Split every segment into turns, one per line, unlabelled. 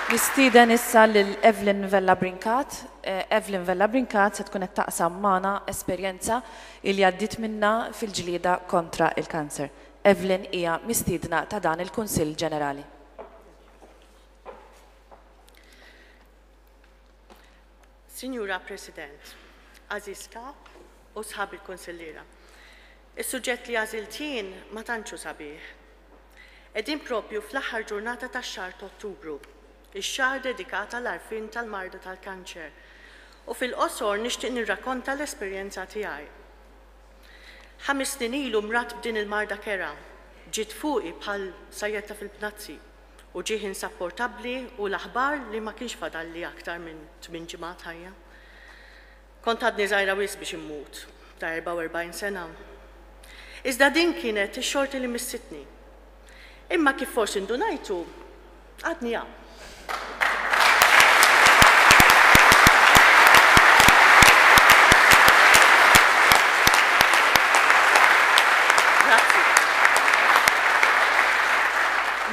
Nistieden issa lil Evelyn Vella Brincat. Evelyn Vella Brincat se tkun qed taqsam magħna esperjenza li għaddiet minnha fil-ġlieda kontra l-kanser. Evelyn hija mistiedna ta' dan il-Kunsill Ġenerali.
Sinjura President, għażiż Kap u sħab il-Kunsilliera. Is-suġġett li għażilt jien ma tantx hu sabiħ. Qegħdin proprju fl-aħħar ġurnata tax-xahar t'Ottubru, ix-xahar dedikat għall-għarfien tal-marda tal-kanċer, u fil-qosor nixtieq nirrakonta l-esperjenza tiegħi. Ħames snin ilu mradt b'din il-marda kerha. Ġiet fuqi bħal sajjetta fil-bnazzi. Uġigħ insapportabbli u l-aħbar li ma kienx fadalli aktar minn tmien ġimgħat ħajja. Kont għadni żgħira wisq biex immut, ta' 44 sena. Iżda din kienet ix-xorti li missitni. Imma kif forsi ndunajtu, għadni hawn. Grazzi.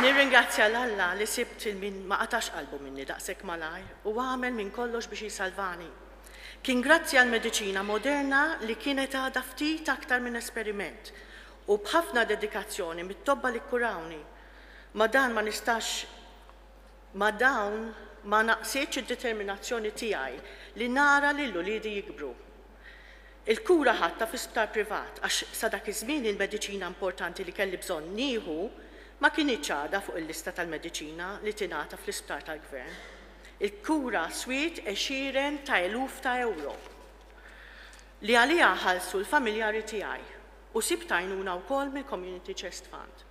Nirringrazzja 'l Alla li sibt 'il min ma qatax qalbu minni daqshekk malajr u għamel minn kollox biex jsalvani. Kien grazzi għall-mediċina moderna li kienet għadha ftit aktar minn esperiment u b'ħafna dedikazzjoni mit-tobba li kkurawni. Ma' dan ma nistax ma' dawn ma naqsitx id-determinazzjoni tiegħi li nara lil uliedi jikbru. Il-kura ħadtha fi sptar privat għax sa dak iż-żmien il-mediċina importanti li kelli bżonn nieħu ma kinitx għadha fuq il-lista tal-mediċina li tingħata fl-isptar tal-Gvern. Il-kura swiet għexieren ta' eluf ta' ewro li għaliha ħallsu l-familjari tiegħi u sibt għajnuna wkoll mill-Community Chest Fund.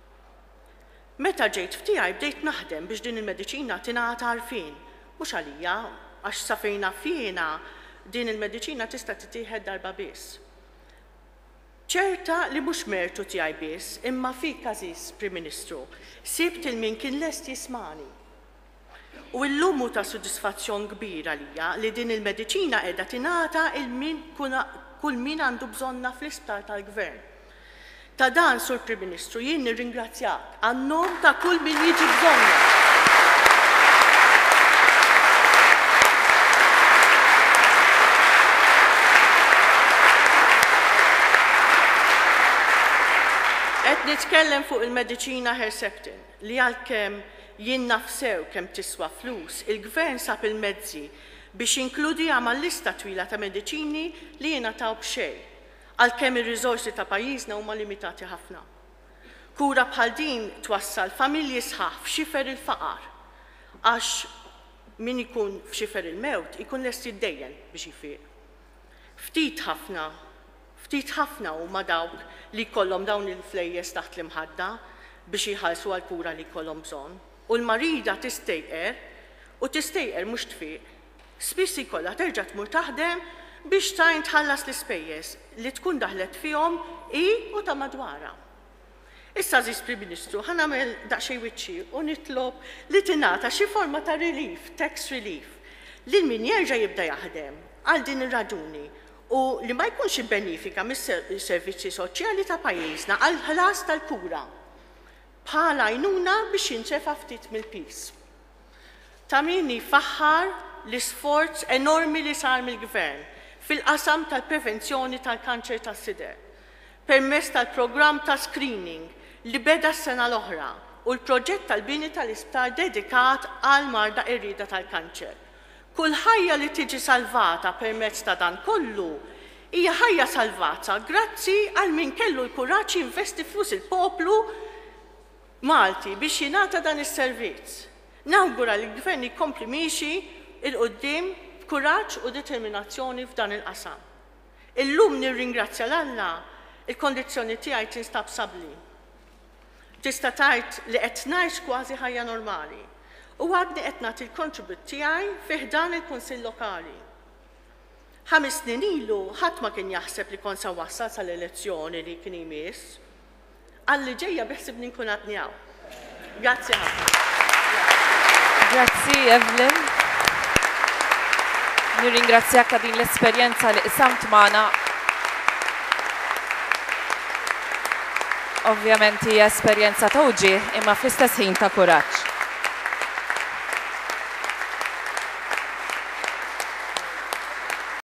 Meta ġejt f'tiegħi bdejt naħdem biex din il-mediċina tingħata għarfien, mhux għalija, għax sa fejn naf jiena din il-mediċina tista' tittieħed darba biss. Ċerta li mhux mertu tiegħi biss, imma fik għażiż Prim Ministru, sibt 'il min kien lest jismagħni. U illum hu ta' sodisfazzjon kbir għalija li din il-mediċina qiegħda tingħata 'il min kull min għandu bżonnha fl-isptar tal-Gvern. Ta' dan, Sur Prim Ministru, jien nirringrazzjak għan-nom ta' kull min jiġi bżonnha. Qed nitkellem fuq il-mediċina Herceptin li għalkemm Jien naf sew kemm tiswa flus, il-Gvern sab il-mezzi biex jinkludiha mal-lista twila ta' mediċini li jingħataw b'xejn, għalkemm ir-riżorsi ta' pajjiżna huma limitati ħafna. Kura bħal din twassal familji sħaħ f'xifer il-faqar, għax min ikun f'xifer il-mewt ikun lest jiddejjen biex jfiq. Ftit ħafna Ftit ħafna huma dawk li jkollhom dawn il-flejjes taħt l-imħadda biex jħallsu għall-kura li jkollhom bżonn. U l-marida tistejqer, u tistejqer mhux tfiq. Spiss jkollha terġa' tmur taħdem biex tgħin tħallas l-ispejjeż li tkun daħlet fihom hi u ta' madwarha. Issa għażiż Prim Ministru, ħa nagħmel daqsxejn wiċċi u nitlob li tingħata xi forma ta' relief, tax relief, lil min jerġa' jibda jaħdem għal din ir-raġuni u li ma jkunx ibbenifika mis-servizzi soċjali ta' pajjiżna għall-ħlas tal-kura bħala għajnuna biex jintrefa' ftit mill-piż. Ta' min jfaħħar l-isforz enormi li sar mill-Gvern fil-qasam tal-prevenzjoni tal-kanċer tas-sider permezz tal-programm ta' screening li beda s-sena l-oħra u l-proġett tal-bini tal-isptar dedikat għall-marda qerrieda tal-kanċer. Kull ħajja li tiġi salvata permezz ta' dan kollu hija ħajja salvata grazzi għal min kellu l-kuraġġ jinvesti flus il-poplu Malti biex jingħata dan is-servizz. Nawgura li l-Gvern jkompli miexi 'l quddiem b'kuraġġ u determinazzjoni f'dan il-qasam. Illum nirringrazzja 'l Alla il-kondizzjoni tiegħi tinstab sabbli. Tista' tgħid li qed ngħix kważi ħajja normali u għadni qed nagħti l-kontribut tiegħi fi ħdan il-Kunsill Lokali. Ħames snin ilu ħadd ma kien jaħseb li kont se nwassal sal-elezzjoni li kien jmiss. Għal li ġejja biħsibni nkun għadni hawn. Grazzi ħafna.
Grazzi Evelyn. Nirringrazzjak ta' din l-esperjenza li qsamt magħna. Ovvjament hija esperjenza ta' uġigħ imma fl-istess ħin ta' kuraġġ.